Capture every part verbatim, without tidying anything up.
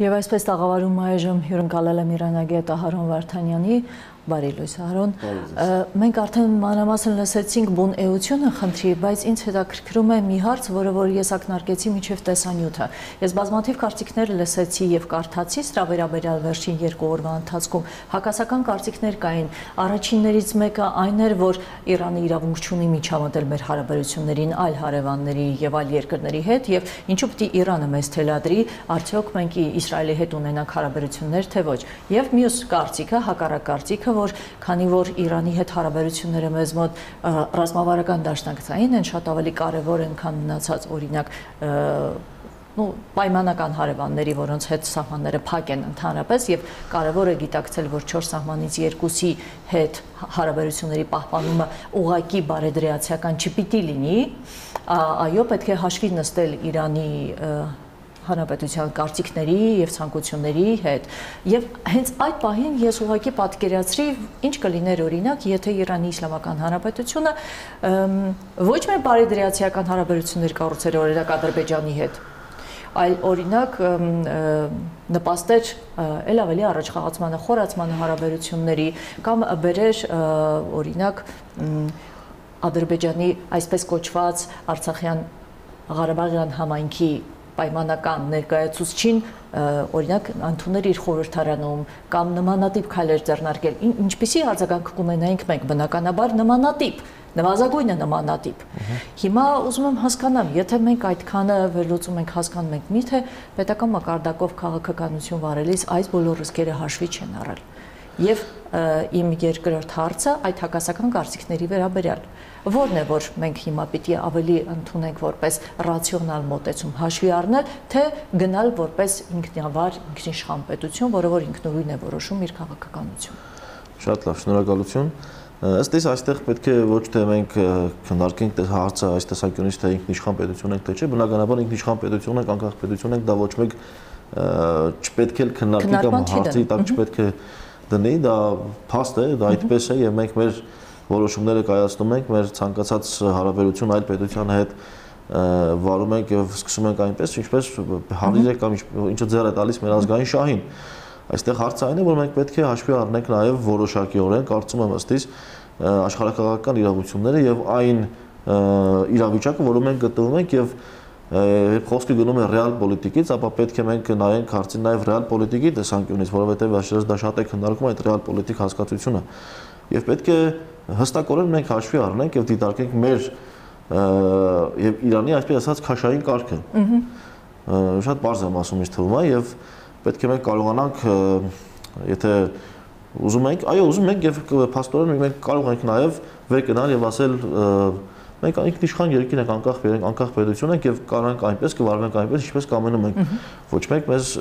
Եվ այսպես տաղավարում այժմ հյուրընկալել եմ իրանագետ Ահարոն Վարդանյանի, բարի լույս Ահարոն, մենք արդեն մանրամասն լսեցինք բուն էությունը խնդրի, բայց ինձ հետաքրքրում է մի հարց, որը որ ես ակնարկեցի մինչև տեսանյութը։ Ես բազմաթիվ կարծիքներ լսեցի եւ կարդացի սրա վերաբերյալ վերջին երկու օրվա ընթացքում, հակասական կարծիքներ կային, առաջիններից մեկը այն էր, որ Իրանը իրավունք չունի միջամտել մեր հարաբերություններին այլ հարևանների եւ այլ երկրների հետ եւ ինչու պիտի Իրանը մեզ թելադրի, արդյոք մենք Իսրայելի հետ ունենանք հարաբերություններ թե ոչ։ Եվ մյուս կարծիքը, հակառակ կարծիքը, որ քանի որ Իրանի հետ հարաբերությունները մեզ մոտ ռազմավարական դաշնակցային են, շատ ավելի կարևոր են, քան մնացած օրինակ նո պայմանական հարևանների, որոնց հետ սահմանները փակ են ընդհանրապես եւ կարևոր է գիտակցել, որ չորս սահմանից երկուսի հետ հարաբերությունների պահպանումը ուղղակի բարեդրեացիական չպիտի լինի, այո, պետք է հաշվի նստել Իրանի հանրապետության կարծիքների եւ ցանկությունների հետ եւ հենց այդ պահին ես ուղղակի պատկերացրի ինչ կլիներ օրինակ եթե Իրանի Իսլամական Հանրապետությունը ոչ միայն բարեդրեացիական հարաբերություններ կառուցեր օրինակ Ադրբեջանի հետ, այլ օրինակ նպաստեր ել ավելի առաջխաղացմանը, խորացմանը հարաբերությունների կամ բերեր օրինակ Ադրբեջանի այսպես կոչված Արցախյան Ղարաբաղյան համայնքի պայմանական ներկայացուցչին օրինակ ընդունել իր խորհրդարանում կամ նմանատիպ քայլեր ձեռնարկել, ինչպիսի արձագանք կունենայինք մենք բնականաբար նմանատիպ, նվազագույնը նմանատիպ։ Հիմա ուզում եմ հասկանամ, եթե մենք այդքանը վերլուծում ենք, հասկանում ենք, միթե պետական մակարդակով քաղաքականություն վարելիս այս բոլոր ռիսկերը հաշվի չեն առել։ Եվ իմ երկրորդ հարցը այդ հակասական կարծիքների վերաբերյալ որն է, որ մենք հիմա պիտի ավելի ընդունենք որպես ռացիոնալ մոտեցում հաշվի առնել, թե գնալ որպես ինքնավար ինքնիշխան պետություն, որը որ ինքնուրույն է որոշում իր քաղաքականությունը։ Շատ լավ, շնորհակալություն։ Ըստ իս այստեղ պետք է ոչ թե մենք քննարկենք հարցը այս տեսանկյունից, թե ինքնիշխան պետություն ենք, թե չէ, բնականաբար ինքնիշխան պետություն ենք, անկախ պետություն ենք, դա ոչ մեկ չպետք է քննարկի կամ հարցի տակ չպետք է դնի, դա փաստ է, դա այդպես է եւ մենք մեր որոշումները կայացնում ենք, մեր ցանկացած հարաբերություն այլ պետության հետ վարում ենք եւ սկսում ենք այնպես, ինչպես հարիր է կամ ինչը ձեռ է տալիս մեր ազգային շահին։ Այստեղ հարցը այն է, որ մենք պետք է հաշվի առնենք նաեւ որոշակիորեն, կարծում եմ ըստ իս աշխարհակաղակական իրավությունները եւ այն իրավիճակը, որում մենք գտնվում ենք եւ երբ խոսքը գնում է ռեալ պոլիտիկից, ապա պետք է մենք նայենք հարցին նաեւ ռեալ պոլիտիկի տեսանկյունից, որովհետեւ աշխարհից դա շատ է քննարկում այդ ռեալ պոլիտիկ հասկացությունը։ Եվ պետք է հստակորեն մենք հաշվի առնենք եւ դիտարկենք մեր եւ Իրանի այսպես ասած քաշային կարգը։ Շատ բարձր եմ ասում, ինձ թվում է, եւ պետք է մենք կարողանանք, եթե ուզում ենք, այո, ուզում ենք եւ փաստորեն մենք կարող ենք նաեւ վեր գնալ եւ ասել մենք ինքնիշխան երկիր ենք, անկախ անկախ պետություն ենք եւ կարողանանք այնպես կվարվենք այնպես, ինչպես կամենում ենք։ Ոչ մեկ մեզ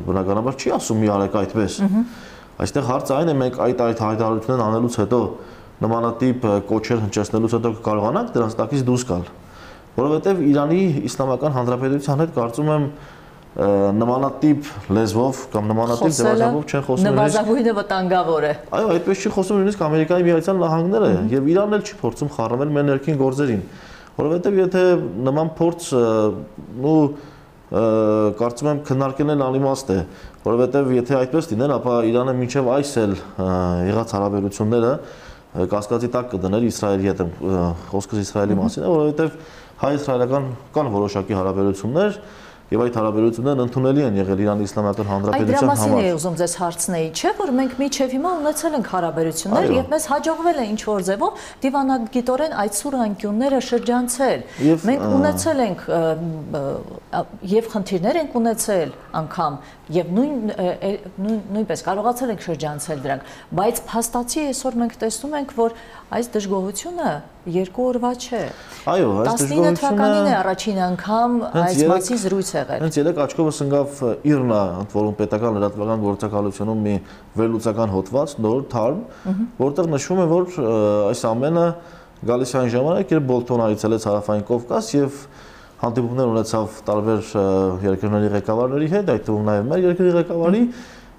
բնականաբար չի ասում մի արեք այդպես։ Այստեղ հարցը այն է, մենք այդ այդ հայտարարություններն անելուց հետո նմանատիպ կոչեր հնչեցնելուց հետո կարողանանք դրանց տակից դուրս գալ, որովհետև Իրանի Իսլամական Հանրապետության հետ կարծում եմ նմանատիպ լեզվով կամ նմանատիպ ձևաչափով չեն խոսում։ Նվազագույնը վտանգավոր է։ Այո, այդպես չի խոսում նույնիսկ Ամերիկայի Միացյալ Նահանգները եւ Իրանն էլ չի փորձում խառնվել մեր ներքին գործերին, որովհետև եթե նման փորձ ու կարծում եմ քննարկելն անիմաստ է, որովհետև եթե այդպես լիներ, ապա Իրանը մինչև այս էլ եղած հարաբերությունները կասկածի տակ կդներ Իսրայելի հետ, խոսքս Իսրայելի մասին է, որովհետև հայ-իսրայելական կան որոշակի հարաբերություններ եւ այդ հարաբերություններն ընդունելի են եղել Իրանի Իսլամական Հանրապետության համար։ Այդ դրա մասին է ուզում ձեզ հարցնել, չէ՞ որ մենք միջև հիմա ունեցել ենք հարաբերություններ եւ մեզ հաջողվել է ինչ որ ձևով դիվանագիտորեն այդ սուր անկյունները շրջանցել։ Մենք ունեցել ենք եւ խնդիրներ ենք ունեցել անգամ եւ նույն նույնպես կարողացել ենք շրջանցել դրանք, բայց փաստացի այսօր մենք տեսնում ենք, որ այս դժգոհությունը երկու օրվա չէ։ Այո, այս տասնինը թվականին է առաջին անգամ այս մասի զրույց եղել։ Հենց երեք աչքովս ընկավ ԻՌՆԱ, ընդ որում պետական լրատվական գործակալությունում մի վերլուծական հոդված, նոր թարմ, որտեղ նշվում է, որ այս ամենը գալիս է այն ժամանակ, երբ Բոլթոնը այցելեց Հարավային Կովկաս եւ հանդիպումներ ունեցավ տարբեր երկրների ղեկավարների հետ, այդ թվում նաև մեր երկրի ղեկավարի,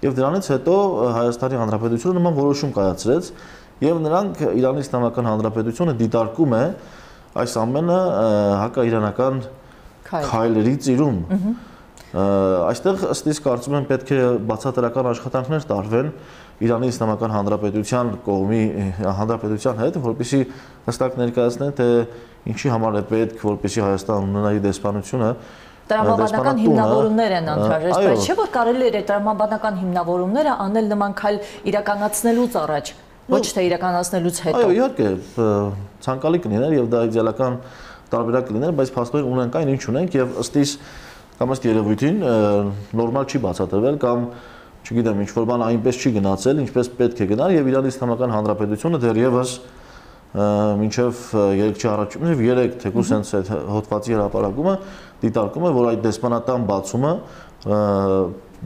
եւ դրանից հետո Հայաստանի Հանրապետությունը նման որոշում կայացրեց եւ նրանք Իրանի Իսլամական Հանրապետությունը դիտարկում է այս ամենը հակաիրանական քայլերի ծիրում։ Այստեղ ըստ իս կարծում եմ պետք է բացատրական աշխատանքներ տարվեն Իրանի Իսլամական Հանրապետության կողմի հանրապետության հետ, որպեսզի հստակ ներկայացնեն, թե ինչի համար է պետք, որպեսզի Հայաստան ունենա իր դեսպանությունը։ Տրամաբանական հիմնավորումներ են անհրաժեշտ, բայց չէ՞ որ կարելի է տրամաբանական հիմնավորումները անել նման քայլ իրականացնելուց առաջ, ոչ թե իրականացնելուց հետո։ Այո, իհարկե, ցանկալի կլիներ եւ դա իդեալական տարբերակ կլիներ, բայց փաստորեն ունենք այն, ինչ ունենք եւ ըստ իս կամ ըստ երևույթին նորմալ չի բացատրվել կամ չգիտեմ, ինչ որ բան այնպես չի գնացել, ինչպես պետք է գնար եւ Իրանի Իսլամական Հանրապետությունը դեռևս մինչեւ երեք չառաջում եւ երեք թեկուզ հենց այդ հոդվածի հրապարակումը դիտարկում է, որ այդ դեսպանատան բացումը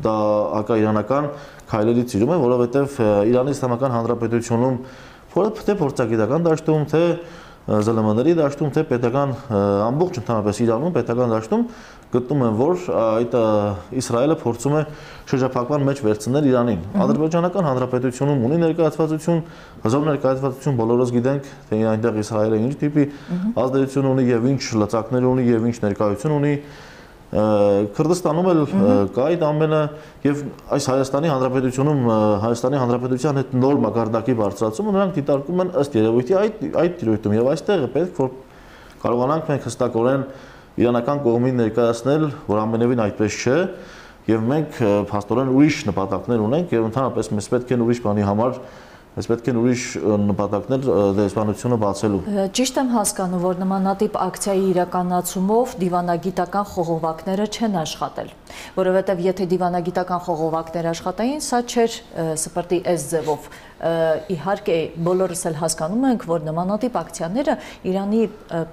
դա հակաիրանական քայլերից իրում է, որովհետեւ Իրանի Իսլամական Հանրապետությունում թե փորձագիտական դաշտում, թե ԶԼՄ-ների դաշտում, թե պետական ամբողջ ընդհանրապես Իրանում պետական դաշտում գտնում են, որ այդ Իսրայելը փորձում է շրջափակման մեջ վերցնել Իրանին։ Ադրբեջանական Հանրապետությունում ունի ներկայացվածություն, հզոր ներկայացվածություն, բոլորս գիտենք, թե այնտեղ Իսրայելը ինչ տիպի ազդեցություն ունի եւ ինչ լծակներ ունի եւ ինչ ներկայություն ունի։ Քրդստանում էլ կա այդ ամենը եւ այս Հայաստանի Հանրապետությունում Հայաստանի Հանրապետության հետ նոր մակարդակի բարձրացումը նրանք դիտարկում են ըստ երևույթի այդ այդ դիրույթում եւ այստեղ է պետք որ կարողանանք մենք հստակորեն իրանական կողմին ներկայացնել, որ ամենևին այդպես չէ եւ մենք փաստորեն ուրիշ նպատակներ ունենք եւ ընդհանրապես մեզ պետք է ուրիշ բանի համար Ես պետք է ուրիշ նպատակներ դեսպանությունը բացելու։ Ճիշտ եմ հասկանում, որ նմանատիպ ակցիայի իրականացումով դիվանագիտական խողովակները չեն աշխատել, որովհետև եթե դիվանագիտական խողովակներ աշխատային, սա չէր սպրտի այս ձևով։ Իհարկե բոլորս էլ հասկանում ենք, որ նմանատիպ ակցիաները Իրանի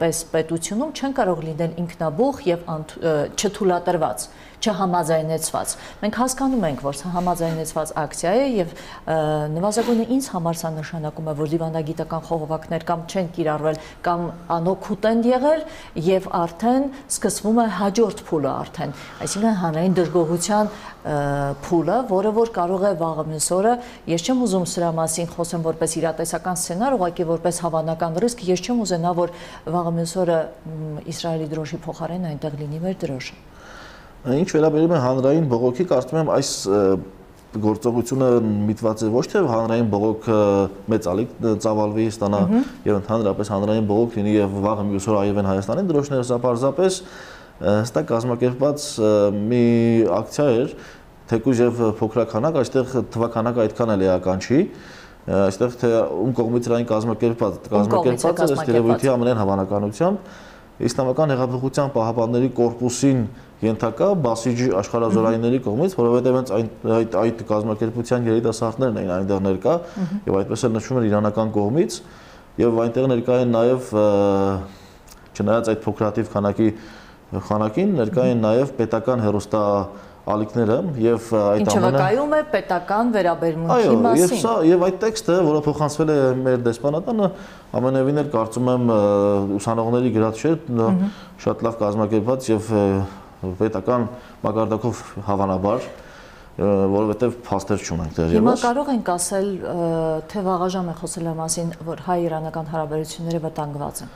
պես պետությունում չեն կարող լինել ինքնաբուխ եւ չթույլատրված, չհամաձայնեցված։ Մենք հասկանում ենք, որ սա համաձայնեցված ակցիա է եւ նվազագույնը ինձ համար սա նշանակում է, որ դիվանագիտական խողովակներ կամ չեն կիրառվել կամ անօգուտ են եղել եւ արդեն սկսվում է հաջորդ փուլը արդեն, այսինքն հանրային դժգոհության փուլը, որը որ կարող է վաղը մյուս օրը, ես չեմ ուզում սրա մասին խոսեմ որպես իրատեսական սցենար, ուղղակի որպես հավանական ռիսկ, ես չեմ ուզենա, որ վաղը մյուս օրը Իսրայելի դրոշի փոխարեն այնտեղ լինի մեր դրոշը։ Ինչ վերաբերում է հանրային բողոքի, կարծում եմ այս գործողությունը միտված է ոչ թե հանրային բողոքը մեծ ալիք ծավալվի ստանա եւ ընդհանրապես հանրային բողոք լինի եւ վաղը մյուս օր այևեն Հայաստանի դրոշները, սա պարզապես հստակ կազմակերպված մի ակցիա էր, թեկուզ եւ փոքրականակ, այստեղ թվականակը այդքան էլ էական չի, այստեղ թե ում կողմից այն կազմակերպված, կազմակերպված է ըստ երևույթի ամենայն հավանականությամբ Իսլամական հեղափոխության պահապանների կորպուսին ենթակա Բասիջի աշխարհազորայինների կողմից, որովհետև հենց այդ այդ կազմակերպության երիտասարդներն էին այնտեղ ներկա եւ այդպես էլ նշվում էր իրանական կողմից եւ այնտեղ ներկա են նաեւ չնայած այդ փոքրաթիվ քանակի խանակին ներկա են նաեւ պետական հերոստա ալիքները եւ այդ ամենը ինչը վկայում է պետական վերաբերմունքի մասին։ Այո, եւ սա եւ այդ տեքստը, որը փոխանցվել է մեր դեսպանատանը, ամենևին էլ կարծում եմ ուսանողների գրած չէ, շատ լավ կազմակերպված եւ պետական մակարդակով հավանաբար, որովհետեւ փաստեր չունենք դեռևս։ Հիմա կարող ենք ասել, թե վաղաժամ է խոսել մասին, որ հայ-իրանական հարաբերությունները վտանգված են։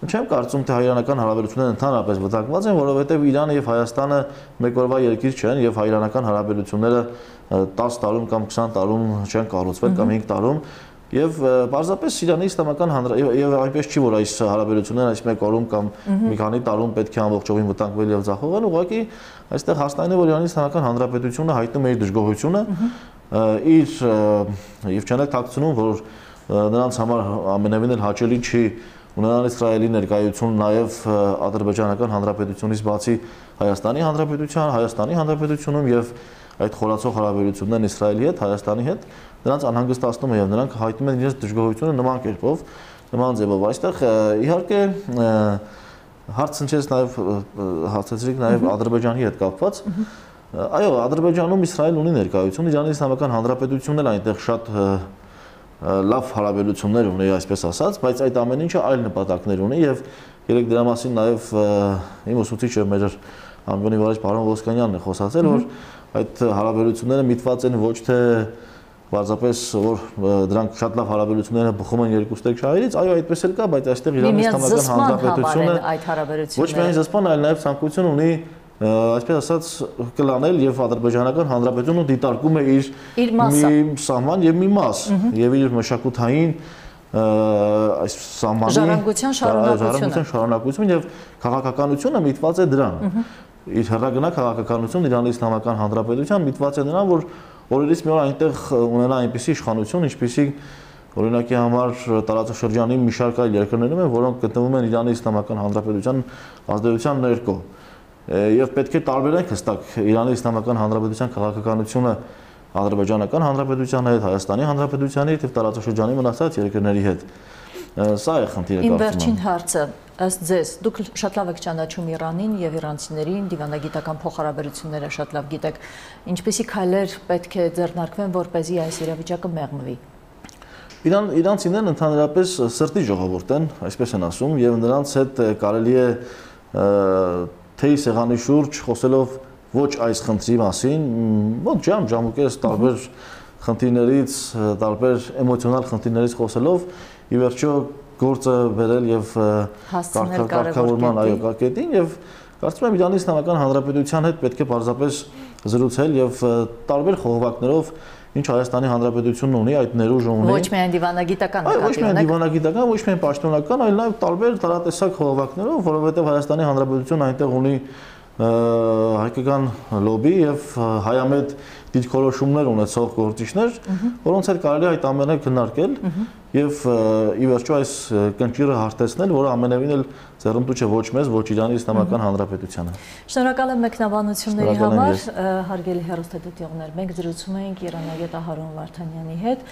Չեմ կարծում, թե հայ-իրանական հարաբերությունները ընդհանրապես վտանգված են, որովհետև Իրանը եւ Հայաստանը մեկ օրվա երկիր չեն եւ հայ-իրանական հարաբերությունները տասը տարում կամ քսան տարում չեն կառուցվել կամ հինգ տարում եւ պարզապես Իրանի Իսլամական Հանրապետություն եւ այնպես չի, որ այս հարաբերությունները այս մեկ օրում կամ մի քանի տարում պետք է ամբողջովին վտանգվել եւ ձախողվեն, ուղղակի այստեղ հաստատն է, որ Իրանի Իսլամական Հանրապետությունը հայտնում է իր դժգոհությունը իր եւ չանեք թաքցնում, որ նրանց համար ամենևին էլ հաճելի չի ունենալ Իսրայելի ներկայություն նաև Ադրբեջանական Հանրապետությունից բացի Հայաստանի Հանրապետության, Հայաստանի Հանրապետությունում եւ այդ խորացող հարաբերություններն Իսրայելի հետ, Հայաստանի հետ նրանց անհանգստացնում է եւ նրանք հայտնում են իրենց դժգոհությունը նման կերպով, նման ձևով։ Այստեղ իհարկե հարց հնչեց նաև հարցեցրիք նաև Ադրբեջանի հետ կապված։ Այո, Ադրբեջանում Իսրայելն ունի ներկայություն, Իրանի Իսլամական Հանրապետությունն էլ այնտեղ շատ լավ հարաբերություններ ունի, այսպես ասած, բայց այդ ամեն ինչը այլ նպատակներ ունի եւ երեք դրա մասին նաեւ իմ ուսուցիչը մեր անվանի վարիչ պարոն Ոսկանյանն է խոսացել, որ այդ հարաբերությունները միտված են ոչ թե պարզապես որ դրանք շատ լավ հարաբերություններ են բխում են երկու ստեկ շահերից, այո, այդպես էլ կա, բայց այստեղ Իրանի Իսլամական Հանրապետությունը այդ հարաբերությունները ոչ միայն զսպան, այլ նաեւ ցանկություն ունի այսպես ասած կլանել եւ Ադրբեջանական Հանրապետությունը դիտարկում է իր մի սահման եւ մի մաս եւ իր մշակութային այս սահմանի ժառանգության շարունակությունը շարունակություն եւ քաղաքականությունը միտված է դրան։ Իր հեռագնա քաղաքականությունը Իրանի Իսլամական Հանրապետության միտված է նրան, որ օրերից մի օր այնտեղ ունենա այնպիսի իշխանություն, ինչպիսի օրինակի համար տարածաշրջանի մի շարք այլ երկրներում են, որոնք գտնվում են Իրանի Իսլամական Հանրապետության ազդեցության ներքո։ Եվ պետք է տարբերենք հստակ Իրանի Իսլամական Հանրապետության քաղաքականությունը Ադրբեջանական Հանրապետության հետ, Հայաստանի Հանրապետության հետ եւ տարածաշրջանի մնացած երկրների հետ։ Սա է խնդիրը։ Իմ վերջին հարցը, ըստ ձեզ, դուք շատ լավ եք ճանաչում Իրանին եւ իրանցիներին, դիվանագիտական փոխհարաբերությունները շատ լավ գիտեք։ Ինչպիսի քայլեր պետք է ձեռնարկվեն, որպեսզի այս իրավիճակը մեղմվի։ Իրան իրանցիներն ընդհանրապես սրտի ժողովուրդ են, այսպես են ասում, եւ նրանց հետ կարելի է թեյ սեղանի շուրջ խոսելով ոչ այս խնդրի մասին, ոչ ժամ ժամուկես տարբեր խնդիրներից, տարբեր էմոցիոնալ խնդիրներից խոսելով, ի վերջո գործը վերել եւ կարգավորման այո կետին եւ կարծում եմ Իրանի Իսլամական Հանրապետության հետ պետք է պարզապես զրուցել եւ տարբեր խողովակներով ինչ Հայաստանի Հանրապետությունն ունի, այդ ներուժը ունի։ Ոչ միայն դիվանագիտական, այո, ոչ միայն դիվանագիտական, ոչ միայն պաշտոնական, այլ նաև տարբեր տարատեսակ խողովակներով, որովհետև Հայաստանի Հանրապետությունը այնտեղ ունի հայկական լոբի եւ հայամետ դիրքորոշումներ ունեցող գործիչներ, որոնց հետ կարելի է այդ ամենը քննարկել եւ ի վերջո այս կնճիռը հարթեցնել, որը ամենևին էլ ձեռնտու չէ ոչ մեզ, ոչ Իրանի Իսլամական Հանրապետությանը։ Շնորհակալ եմ մեկնաբանությունների համար, հարգելի հեռուստադիտողներ, մենք զրուցում էինք իրանագետ Ահարոն Վարդանյանի հետ։